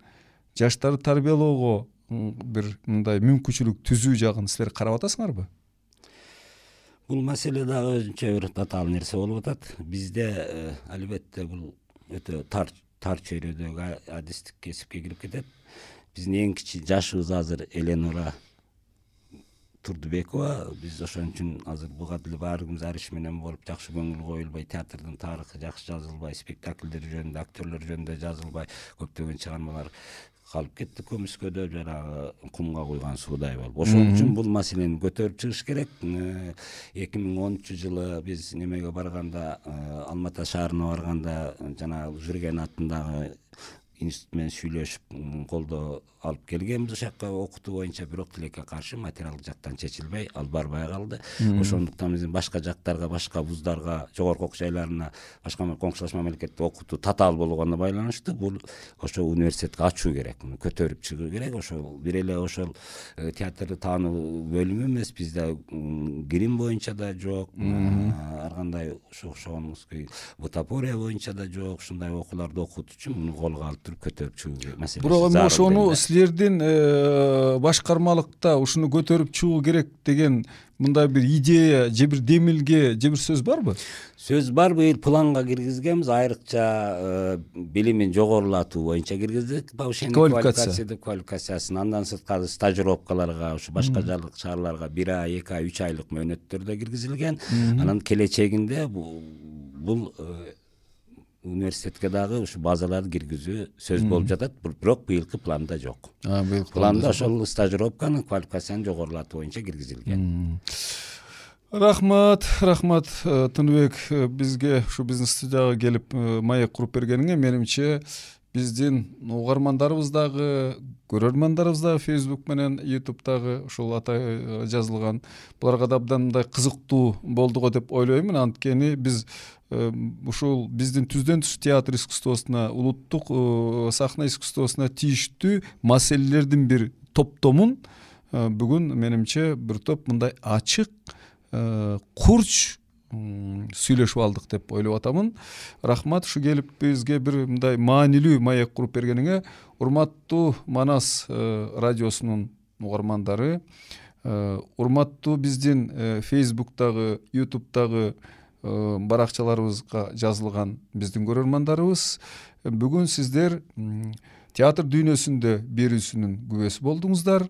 жаштарды тарбиялоого бир мындай мүмкүнчүлүк түзүү жагын силер карап атасыңарбы? Бул маселе дагы өзүнчө бир татаал нерсе болуп атат. Бизде албетте бул өтө тар тар чөйрөдөгү адистик кесипке кирип кетет. Биздин эң кичи жашыбыз азыр Эленора Турдубекова. Биз ошон үчүн азыр буга деле баарыбыз ариш менен болуп, жакшы көңүл коюлбай, театрдын тарыхы жакшы жазылбай, спектакльдер жөнүндө, актерлер жөнүндө жазылбай, көптөгөн чыгармалар калып кетти көмүскөдө, жанагы кумга куйган суудай болуп. Ошон үчүн бул маселени көтөрүп чыгыш керек. эки миң онунчу жылы биз немеге барганда, Алма Ата шаарына барганда, жана Жүрген атындагы институт менен сүйлөшүп колдоо алып келгенбиз ошол жака окутуу боюнча, бирок тилекке каршы материалдык жактан чечилбей, ал барбай калды. Ошондуктан биздин башка жактарга, башка вуздарга, жогорку окуу жайларына, башка коңшулаш мамлекетте окутуу татаал болгонуна байланыштуу бул ошо университетти ачуу керек, көтөрүп чыгуу керек. Ошол бир эле ошол театрды таануу бөлүмү эмес, бизде грим боюнча да жок, ар кандай ошогонуңуздай бутафория боюнча да жок. Ушундай окууларды окутуу үчүн муну колго алып туруп көтөрүп чыгуу маселеси. Бирок эми ошону силердин башкармалыкта ушуну көтөрүп чыгуу керек деген мындай бир идея же бир демилге же бир сөз барбы? Сөз бар, быйыл планга киргизгенбиз, айрыкча билимин жогорулатуу боюнча киргиздик, повышение квалификация деп квалификациясын. Андан сырткары стажировкаларга, ушу башка шаарларга бир ай, эки ай, үч айлык мөөнөттөрдө киргизилген. Анан келечегинде бул университетке дагы ушу базаларды киргизүү сөз болуп жатат, бирок быйылкы планда жок. Планда ошол стажировканы, квалификацияны жогорулатуу боюнча киргизилген. Рахмат, рахмат Тыныбек, бизге ушу биздин студияга келип маек куруп бергениңе. Менимче биздин угармандарыбыз дагы, көрөрмандарыбыз дагы Facebook менен YouTube'дагы ушул ата жазылган буларга да абдан мындай кызыктуу болду го деп ойлоймун. Анткени биз ушул биздин түздөн түз театр искусствосуна, улуттук сахна искусствосуна тийиштүү маселелердин бир топтомун бүгүн менимче бир топ мындай ачык, курч сүйлөшүп алдык деп ойлоп атамын. Рахмат, ушу келип бизге бир мындай маанилүү маек куруп бергениңе. Урматтуу Манас радиосунун угармандары, урматтуу биздин Facebook'тагы, YouTube'дагы баракчаларыбызга жазылган биздин көрөрмандарыбыз, бүгүн сиздер театр дүйнөсүндө берүүсүнүн күбөсү болдуңуздар.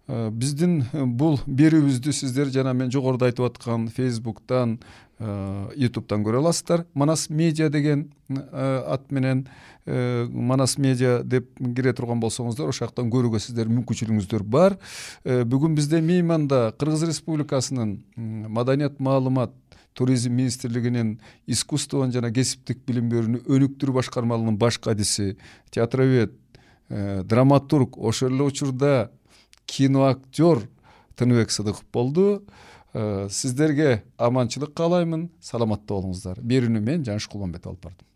Биздин бул берүүбүздү сиздер жана мен жогоруда айтып аткан Facebook'тан, YouTube'тан көрө аласыздар. Манас Медиа деген ат менен Манас Медиа деп кире турган болсоңуздар, ошол жактан көрүүгө сиздер мүмкүнчүлүгүңүздөр бар. Бүгүн бизде мейманда Кыргыз Республикасынын Маданият, маалымат, туризм министрлигинин искусствон жана кесиптик билим берүүнү өнүктүрүү башкармалыгынын баш кадиси, театровед, драматург, ошол эле учурда киноактер Тыныбек Сыдыков болду. Сиздерге аманчылык каалаймын, саламатта болуңуздар. Берүүнү мен Жаныш Кулманбетов алып бардым.